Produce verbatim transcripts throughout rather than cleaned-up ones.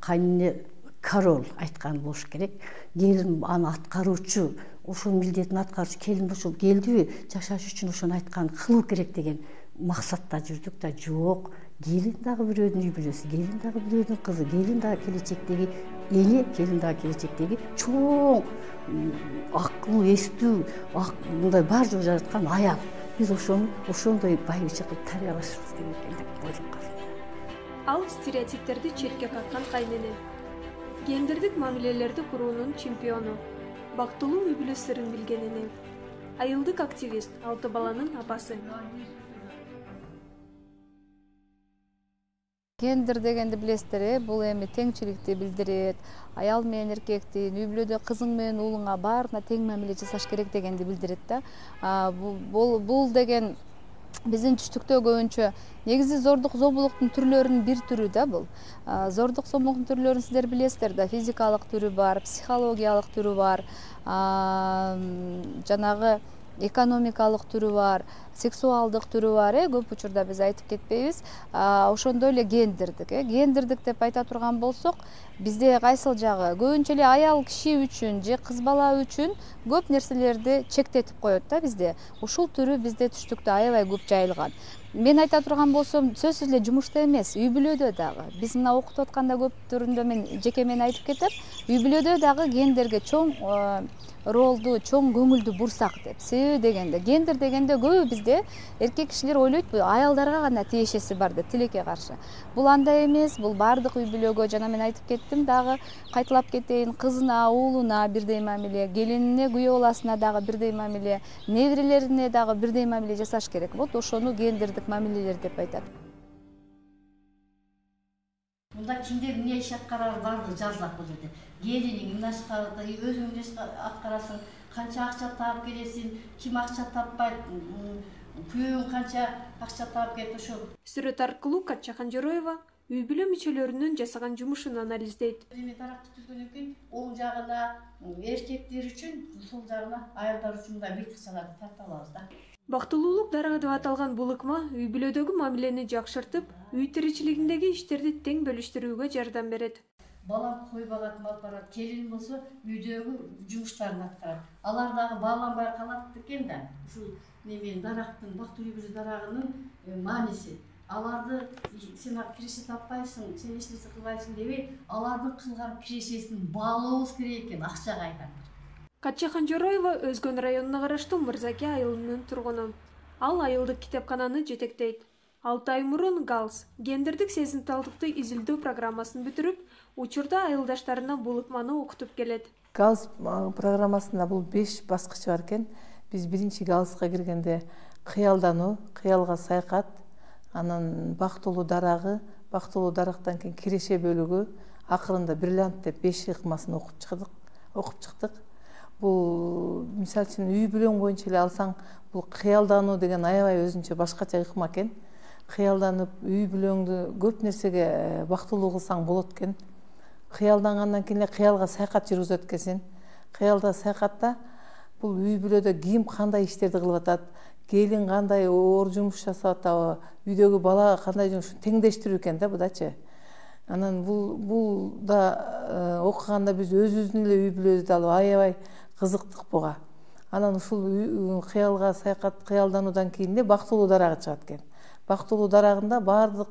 кайнене король айткан болуш керек. Келин аны аткаруучу, ошонун милдетин аткаруучу келин ошол келдиби, жашаш үчүн ошону айткан кылуу керек деген максатта жүрдүк да. Жок, келин дагы бирөөнүн үй бүлөсү, келин дагы бирөөнүн кызы, келин дагы келечектеги эне, келин дагы келечектеги чоң акыл, эстүү, мындай бар жок жараткан аял. Биз ошону ошондой байыбыча кылып тарбиялашыбыз керек экен деп ойлоп калдым. Ал стереотиптерди четке каккан кайнене. Гендердик мамилелерди куруунун чемпиону, бактылуу үй бүлө сырын билген эне. Айылдык активист, алты баланын апасы. Гендер дегенди билесиздер, бул эми теңчиликти билдирет. Аял менен эркектин, үй бүлөдө кызың менен уулуңа баарына тең мамиле жасаш керек дегенди билдирет да. Бул бул деген биздин түштүктө көбүнчө негизи зордук зомбулуктун түрлөрүнүн бир түрү да бул. Зордук зомбулуктун түрлөрүн сиздер билесиздер да, физикалык түрү бар, психологиялык түрү бар, жанагы экономикалык түрү бар, сексуалдык түрү бар, э көп учурда биз айтып кетпейбиз. Ошондой эле гендердик, э гендердик деп айта турган болсок, бизде кайсыл жагы көбүнчө эле аял киши үчүн же кыз бала үчүн көп нерселерди чектетип коет да бизде. Ушул түрү бизде түштүктө аябай көп жайылган. Мен айта турган болсом, сөзсүз эле жумушта эмес, үй бүлөдө дагы. Биз мына окутуп атканда көп түрүндө мен жеке мен айтып кетем, үй бүлөдө дагы гендерге чоң ролду, чоң көңүлдү бурсак деп. Себеби дегенде, гендер дегенде көбү бизде эркек кишилер ойлойт, аялдарга гана тиешеси бар деп, тилекке каршы. Бул андай эмес, бул бардык үй бүлөгө, жана мен айтып кеттим дагы, кайталап кетейин, кызына, уулуна бирдей мамиле, келинине, күйөө баласына дагы бирдей мамиле, неберелерине дагы бирдей мамиле жасаш керек. Вот ошону гендердик мамилелер деп айтат. Мында кимдер эмне иш аткарары бардыгы жазылат бул жерде. Келиниң эмне өзүң эмне аткарасың, канча акча таап келесиң, ким акча таппайт, күйөөң канча акча таап келет, ошол. Сүрөт аркылуу Катча Канжероева үй бүлө мүчөлөрүнүн жасаган жумушун анализдейт. Эми таракты түзгөндөн кийин оң жагына эркектер үчүн, сол жагына аялдар үчүн мындай быйтыкчаларды тартып алабыз да. Бактылуулук дарыгы деп аталган бул ыкма үй бүлөдөгү мамилени жакшыртып, үй тиричилигиндеги иштерди тең бөлүштүрүүгө жардам берет. Балам кой багат, мал барат, келин болсо үйдөгү жумуштарын аткарат. Алар дагы бааланбай калат экен да. Ушул неменин дарактын, бактылуу үй бүлө дарагынын мааниси. Аларды сен киреше таппайсың, сен эч нерсе кылбайсың дебей, алардын кылган кирешесин баалообуз керек экен, акчага айта. Катча Канжероева Өзгөн районуна караштуу Мырзаке айылынын тургуну. Ал айылдык китепкананы жетектейт. алты ай мурун галс гендердик сезимталдыкты изилдөө программасын бүтүрүп, учурда айылдаштарына бул ыкманы окутуп келет. галс программасында бул беш баскычы бар экен. Биз биринчи галска киргенде кыялдануу, кыялга саякат, анан бактылуу дарагы, бактылуу дарактан кийин киреше бөлүгү, акырында бриллиант деп беш ыкмасын окуп чыктык, окуп чыктык. Бул мисалы үчүн үй бүлөң боюнча эле алсаң, бул кыялдануу деген аябай өзүнчө башкача ыкма экен. Кыялданып, үй бүлөңдү көп нерсеге бактылуу кылсаң болот экен. Кыялдангандан кийин эле кыялга саякат жүргүзөт экенсиң. Кыялда саякатта бул үй бүлөдө ким кандай иштерди кылып атат, келин кандай оор жумуш жасап атабы, үйдөгү бала кандай жумуш, теңдештирүү экен да будачы. Анан бул бул да окуганда биз өзүбүздүн эле үй бүлөбүздү алып аябай кызыктык буга. Анан ушул кыялга саякат, кыялдануудан кийин эле бактылуу дарагы чыгат экен. Бактылуу дарагында баардык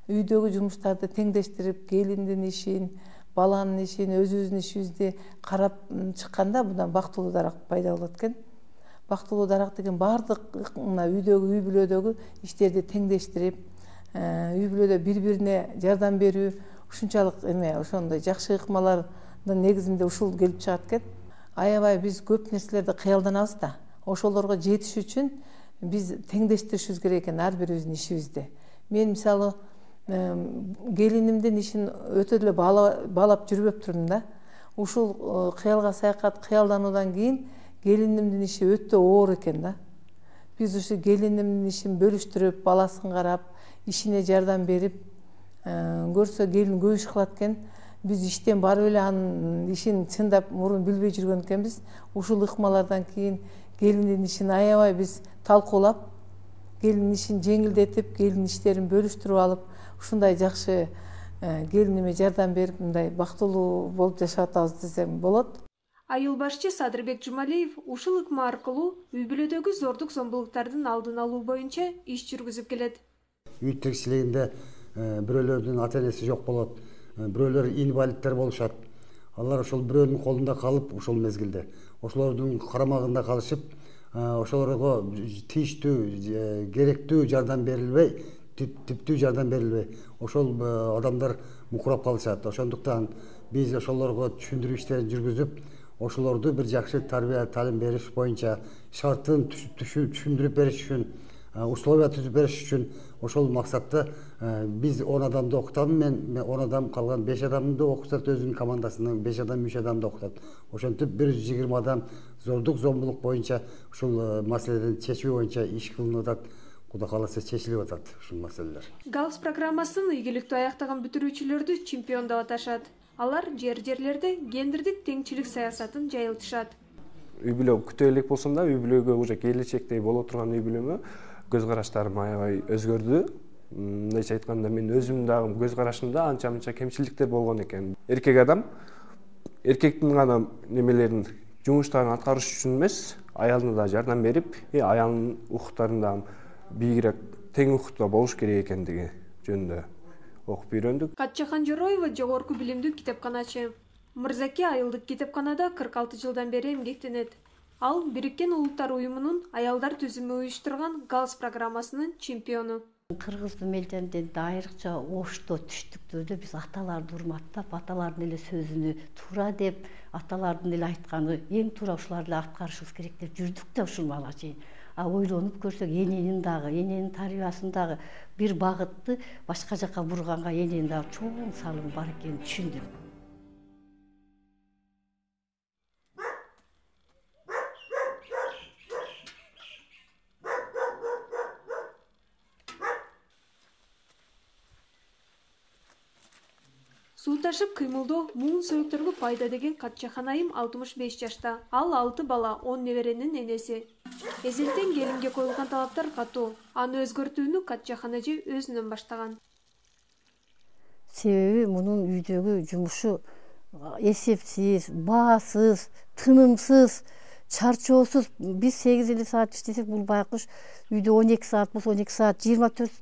үйдөгү жумуштарды теңдештирип, келиндин ишин, баланын ишин, өзүбүздүн ишибизди карап чыкканда мындан бактылуу дарак пайда болот экен. Бактылуу дарак деген баардык мына үйдөгү, үй бүлөдөгү иштерди теңдештирип, үй бүлөдө бири-бирине жардам берүү, ушунчалык эме, ошондой жакшы ыкмалардын негизинде ушул келип чыгат экен. Аябай биз көп нерселерди кыялданабыз да. Ошолорго жетиш үчүн биз теңдештиришибиз керек экен ар бирибиздин ишибизди. Мен мисалы келинимдин ишин өтө эле баалап жүрбөп турдум да. Ушул кыялга саякат, кыялдануудан кийин келинимдин иши өтө оор экен да. Биз ушу келинимдин ишин бөлүштүрүп, баласын карап, ишине жардам берип, көрсө келин көп иш кылат экен. Биз иштен барып эле анын ишин чындап мурун билбей жүргөн экенбиз. Ушул ыкмалардан кийин келиндин ишин аябай биз талкуулап, келиндин ишин жеңилдетип, келин иштерин бөлүштүрүп алып, ушундай жакшы келиниме жардам берип мындай бактылуу болуп жашап атабыз десем болот. Айыл башчы Садырбек Жумалиев ушул ыкма аркылуу үй бүлөдөгү зордук зомбулуктардын алдын алуу боюнча иш жүргүзүп келет. Үй тиричилигинде бирөөлөрдүн ата энеси жок болот, бирөөлөр инвалидтер болушат. Алар ошол бирөөнүн колунда калып ошол мезгилде, ошолордун карамагында калышып, ошолорго тийиштүү, керектүү жардам берилбей, типтүү жардам берилбей, ошол адамдар мукурап калышат. Ошондуктан биз ошолорго түшүндүрүү иштерин жүргүзүп, ошолорду бир жакшы тарбия талим бериш боюнча шартын түшүндүрүп бериш үчүн, условия түзүп бериш үчүн ошол максатта биз он адамды окутам, мен он адам, калган беш адамды окутат, өзүнүн командасынын беш адам, үч адамды окутат. Ошентип бир жүз жыйырма адам зордук зомбулук боюнча ушул маселени чечүү боюнча иш кылынып атат. Кудай кааласа чечилип атат ушул маселелер. галс программасын ийгиликтүү аяктаган бүтүрүүчүлөрдү чемпион деп аташат. Алар жер-жерлерде гендердик теңчилик саясатын жайылтышат. Үй бүлө күтө элек болсом да, үй бүлөгө уже келечекте боло турган үй бүлөмө көз караштарым аябай өзгөрдү. Мындайча айтканда, мен өзүм дагы көз карашымда анча-мынча кемчиликтер болгон экен. Эркек адам эркектин гана немелерин, жумуштарын аткарыш үчүн эмес, аялына да жардам берип, аялынын укуктарын да бийигирээк, тең укукта болуш керек экендиги жөнүндө окуп үйрөндүк. Катчахан Жороева жогорку билимдүү китепканачы. Мырзаке айылдык китепканада кырк алты жылдан бери эмгектенет. Ал Бириккен Улуттар уюмунун аялдар түзүмү уюштурган галс программасынын чемпиону. Кыргыздын мелденде айрыкча ошто түштүктөрдө биз аталарды урматтап, аталардын эле сөзүнү туура деп, аталардын эле айтканы эң туура ушуларды аткарышыбыз керек деп жүрдүк да ушул мага чейин. А ойлонуп көрсөк, эненин дагы, эненин тарбиясын дагы бир багытты башка жака бурганга эненин дагы чоң салымы бар экенин түшүндүм. Суу ташып кыймылдоо муун сөйөктөргө пайда деген Катчахан айым алтымыш беш жашта. Ал алты бала, он неберенин энеси. Эзелтен келинге коюлган талаптар катуу. Аны өзгөртүүнү Катчахан эже өзүнөн баштаган. Себеби мунун үйдөгү жумушу эсепсиз, баасыз, тынымсыз, чарчоосуз. Биз сегиз элүү саат иштесек, бул байкуш үйдө он эки саат болсо он эки саат, жыйырма төрт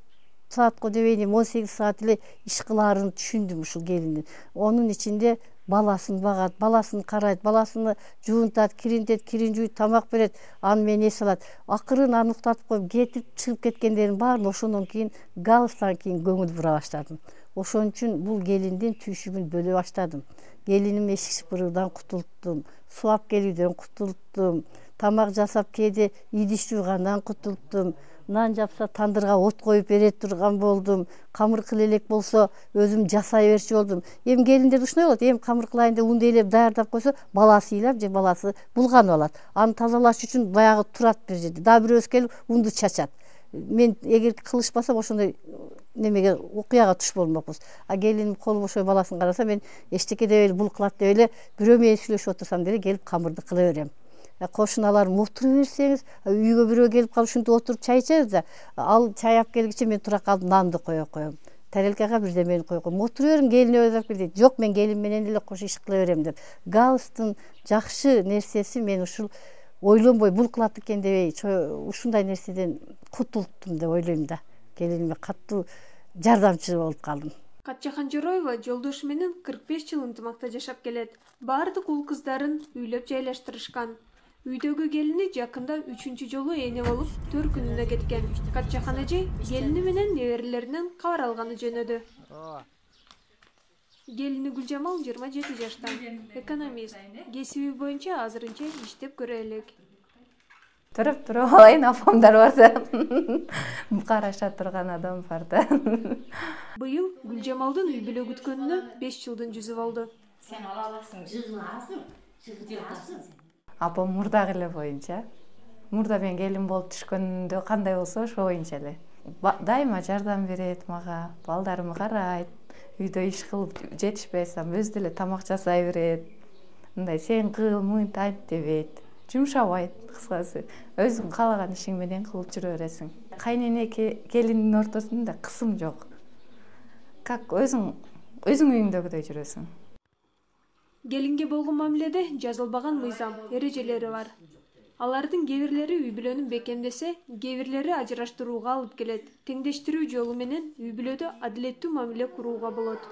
саатка дебейин он сегиз саат эле иш кылаарын түшүндүм ушул келиндин. Онун ичинде баласын багат, баласын карайт, баласыны жуунтат, киринтет, кирин жууйт, тамак берет, аны менен эс алат. Акырын аны уктатып коюп кетип чыгып кеткендердин баарын ошондон кийин галстан кийин көңүл бура баштадым. Ошон үчүн бул келиндин түйшүгүн бөлө баштадым. Келиним эшик шыпыруудан кутулттум, суу алып келүүдөн кутулттум, тамак жасап кээде идиш жуугандан кутулттум. Нан жапса тандырга от коюп бере турган болдум. Камыр кыл элек болсо өзүм жасай берчү болдум. Эми келиндер ушундай болот, эми камыр кылайын деп унду элеп даярдап койсо, баласы ыйлап же баласы булганып алат. Аны тазалаш үчүн баягы турат бир жерде. Дагы бирөөсү келип унду чачат. Мен эгер кылышпасам ошондой немеге окуяга туш болмокпуз. А келиним колу бошой баласын караса, мен эчтеке деп эле бул кылат деп эле бирөө менен сүйлөшүп отурсам деле келип камырды кыла берем. Кошуналарым отура берсеңиз, үйгө бирөө келип калып ушинтип отуруп чай ичебиз да, ал чай алып келгиче мен тура калып нанды кое коем. Тарелкага бирдемени коюп коем. Отура берим, келин өзүп келди. Жок, мен келин менен эле кош иш кыла берем деп. Галстын жакшы нерсеси, мен ушул ойлонбой бул кылат экен дебей, ушундай нерседен кутулттум деп ойлойм да. Келиниме катуу жардамчы болуп калдым. Катчахан Жороева жолдошу менен кырк беш жыл ынтымакта жашап келет. Бардык уул кыздарын үйлөп жайлаштырышкан. Үйдөгү келини жакында үчүнчү жолу эне болуп төркүнүнө кеткен. Катчахан эже келини менен неберелеринен кабар алганы жөнөдү. Келини Гүлжамал жыйырма жети жашта, экономист. Кесиби боюнча азырынча иштеп көрө элек. Туруп туруп алайын, апамдар бар да. Караша турган адам бар да. Быйыл Гүлжамалдын үй бүлө күткөнүнө беш жылдын жүзү болду. Сен ала аласың, жыгыласың, жыгыласың. Апам мурдагы эле боюнча. Мурда мен келин болуп түшкөндө кандай болсо ошо боюнча эле. Дайыма жардам берет мага, балдарымы карайт, үйдө иш кылып жетишпесем өзү деле тамак жасай берет. Мындай сен кыл, мынт айт дебейт. Жумшабайт, кыскасы. Өзүң каалаган ишиң менен кылып жүрө бересиң. Кайнене келиндин ортосунда кысым жок. Как өзүң өзүң үйүңдөгүдөй жүрөсүң. Келинге болгон мамиледе жазылбаган мыйзам, эрежелери бар. Алардын кээ бирлери үй бүлөнү бекемдесе, кээ бирлери ажыраштырууга алып келет. Теңдештирүү жолу менен үй бүлөдө адилеттүү мамиле курууга болот.